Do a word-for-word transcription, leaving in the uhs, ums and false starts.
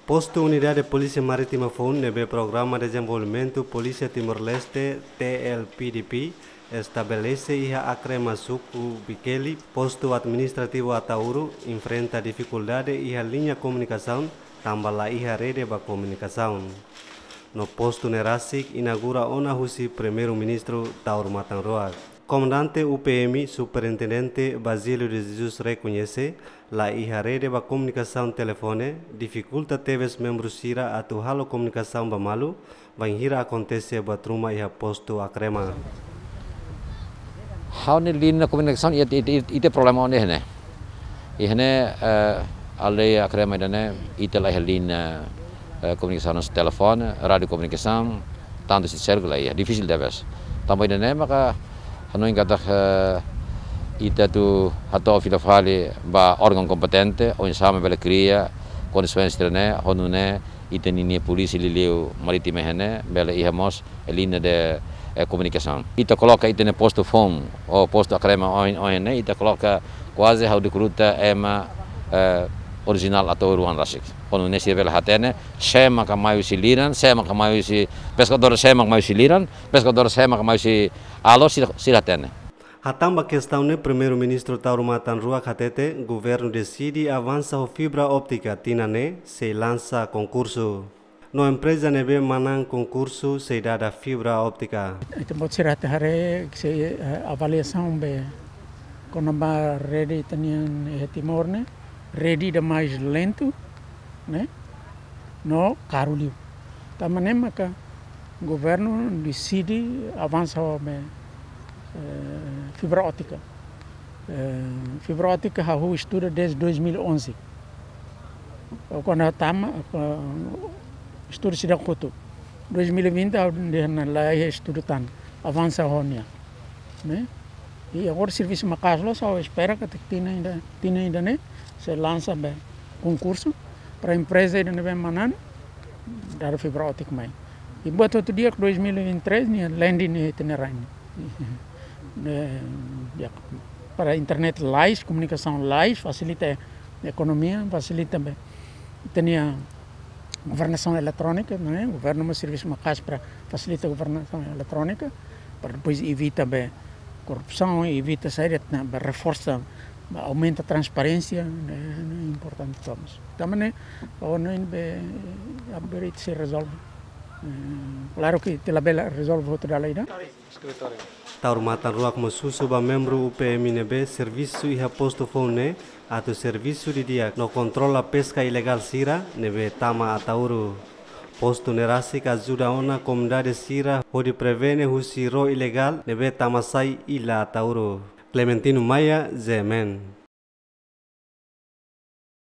Postu Unidade Polísia Marítima foun ne'ebé Programa Dezenvolvimentu Polísia Timor-Leste, T L P D P, estabelese iha Acrema, suku Bikeli, postu administrativu Ataúro, enfrenta difikuldade iha liña komunikasaun, tanba la iha rede ba komunikasaun. No postu ne'e rasik inaugura ona husi Primeiru-Ministru Taur Matan Ruak. Komandante U P M, Superintendente Basílio de Jesus rekoñese, la iha rede ba komunikasaun telefone, difikulta tebes membru sira atu halo komunikasaun ba malu, bainhira akontese buat ruma iha postu Acrema. Ha'u-nia liña komunikasaun iha, iha, iha, iha problema ona ne'e. Iha ne'e, eh, aldeia Acrema ida-ne'e, ita la iha liña, eh, komunikasaun telefone, rádiu komunikasaun, tantu se sérgula iha, difisil tebes. Tanba ida-ne'e maka hanoin katak, eh, ita atu hato'o fila fali ba órgaun kompetente, oinsá mak bele kria kondisaun sira-ne'e, ho nune'e ita-nia polísia liuliu marítima iha ne'e bele iha mós liña de, eh, komunikasaun. Ita koloka ita-nia postu foun, ou postu Acrema ohin, ohin ne'e, ita koloka kuaze ha'u dekruta ema, eh, orijinál Ataúro oan rasik. Ho nune'e sira bele hatene, sé maka mai husi liran, sé maka mai husi peskadór, sé maka mai husi liran, peskadór sé maka mai husi alor, sira, sira hatene. Hatán ba kestaun ne'e, Primeiru-Ministru Taur Matan Ruak hatete, governu deside avansa ho fibra óptika, tinan ne'e sei lansa konkursu. No empreza ne'ebé manán konkursu sei dada fibra óptika. Ita-boot sira atu haree, sei, eh, avaliasaun be kona-ba rede ita-nian iha Timor ne'e, rede ida mais lentu, ne'e, no karu liu. Tanba ne'e maka governu deside avansa ho be, eh, fibra óptika. Eh, fibra óptika ha'u estuda desde dois mil e onze. Ou kuandu tama, eh, estudu seidauk kotu. Dois mil e vinte, ha'u dehan la iha estudu tan, avansa ho nia. Ne'e? I agora servisu maka'as loos, ha'u espera katak tinan ida, tinan ida-ne'e, sei lansa be konkursu para empreza ida ne'ebé manán, dada fibra óptika mai. I buat hotu di'ak dois mil e vinte e três, nia landing ne'e ita-nia rain. Eh, ya, para internet lais, komunikasaun lais, fasilita ekonomia, fasilita be ita-nia governasaun eletrónika, ne'e? Governu mós servisu maka'as para fasilita governasaun eletrónika, para depois evita be korrupsaun, evita saida, ne'e, be reforsa, be aumenta transparénsia, ne'e, ne'e importante todos. Tanba ne'e, o ne'e be, abrir se rezolve. Eh, klaru ke ita labele rezolve hotu dala ida. Taur Matan Ruak mós husu ba membru U P M ne'ebé servisu iha postu foun ne'e atu servisu didi'ak no kontrola peska ilegál sira ne'ebé tama Ataúro. Postu ne'e rasik ajuda ona komunidade sira hodi prevene husi ró ilegál ne'ebé tama sai illa Ataúro. Clementino Maia, Z M N.